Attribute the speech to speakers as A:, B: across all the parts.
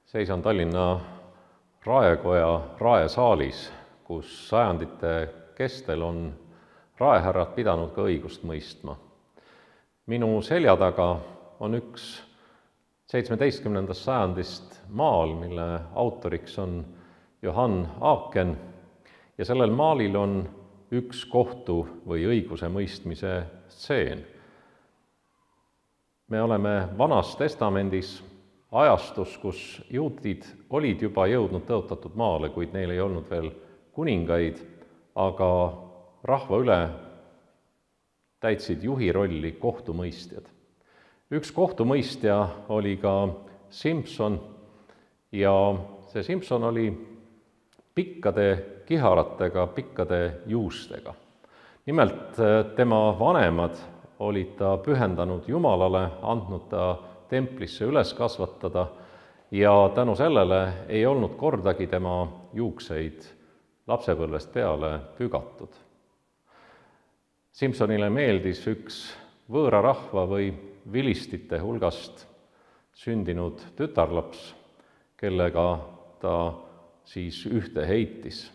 A: Seisan Tallinna raekoja raesaalis, kus sajandite kestel on raehärrad pidanud ka õigust mõistma. Minu selja taga on üks 17. sajandist maal, mille autoriks on Johann Aaken, ja sellel maalil on üks kohtu või õigusemõistmise stseen. Me oleme Vanas Testamendis ajastus, kus juudid olid juba jõudnud tõotatud maale, kuid neil ei olnud veel kuningaid, aga rahva üle täitsid juhi rolli kohtumõistjad. Üks kohtumõistja oli ka Simson ja see Simson oli pikkade kiharatega, pikkade juustega. Nimelt tema vanemad olid ta pühendanud Jumalale, andnud ta templisse üles kasvatada ja tänu sellele ei olnud kordagi tema juukseid lapsepõlvest peale pügatud. Simsonile meeldis üks võõra rahva või vilistite hulgast sündinud tütarlaps, kellega ta siis ühte heitis.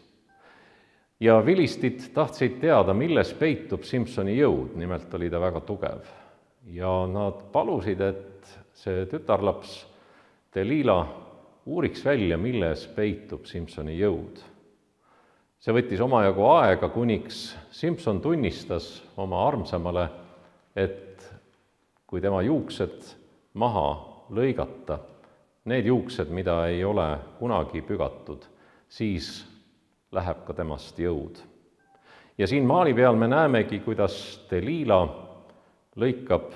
A: Ja vilistid tahtsid teada, milles peitub Simsoni jõud, nimelt oli ta väga tugev. Ja nad palusid, et see tütarlaps Delila uuriks välja, milles peitub Simsoni jõud. See võttis omajagu aega, kuniks Simson tunnistas oma armsamale, et kui tema juuksed maha lõigata, need juuksed, mida ei ole kunagi pügatud, siis läheb ka temast jõud. Ja siin maali peal me näemegi, kuidas Delila lõikab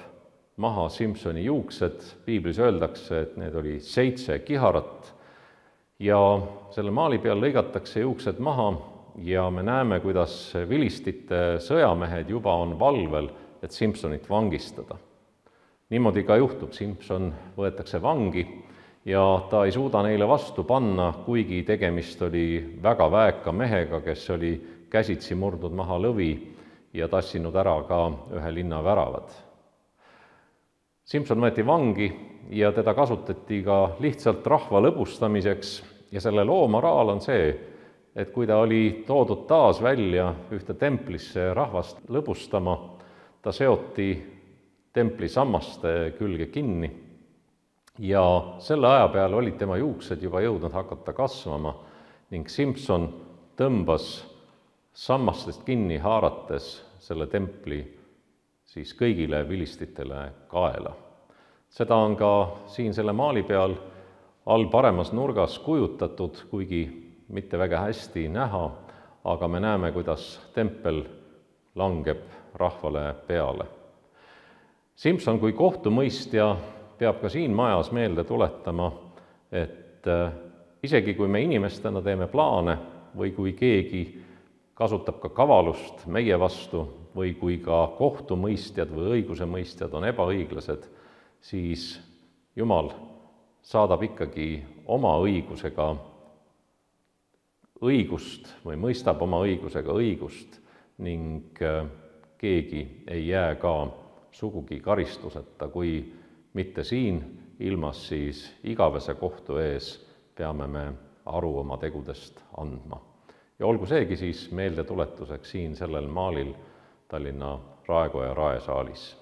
A: maha Simsoni juuksed. Piiblis öeldakse, et need oli 7 kiharat ja selle maali peal lõigatakse juuksed maha ja me näeme, kuidas vilistite sõjamehed juba on valvel, et Simsonit vangistada. Niimoodi ka juhtub, Simson võetakse vangi ja ta ei suuda neile vastu panna, kuigi tegemist oli väga väeka mehega, kes oli käsitsi murdnud maha lõvi ja tassinud ära ka ühe linna väravad. Simson võeti vangi ja teda kasutati ka lihtsalt rahva lõbustamiseks ja selle loo moraal on see, et kui ta oli toodud taas välja ühte templisse rahvast lõbustama, ta seoti templi sammaste külge kinni ja selle aja peal olid tema juuksed juba jõudnud hakata kasvama ning Simson tõmbas sammastest kinni haarates selle templi siis kõigile vilistitele kaela. Seda on ka siin selle maali peal all paremas nurgas kujutatud, kuigi mitte väga hästi näha, aga me näeme, kuidas tempel langeb rahvale peale. Simson kui kohtumõistja peab ka siin majas meelde tuletama, et isegi kui me inimestena teeme plaane või kui keegi kasutab ka kavalust meie vastu või kui ka kohtumõistjad või õigusemõistjad on ebaõiglased, siis Jumal saadab ikkagi oma õigusega õigust või mõistab oma õigusega õigust ning keegi ei jää ka sugugi karistuseta, kui mitte siin ilmas, siis igavese kohtu ees peame me aru oma tegudest andma. Ja olgu seegi siis meeldetuletuseks siin sellel maalil Tallinna raekoja raesaalis.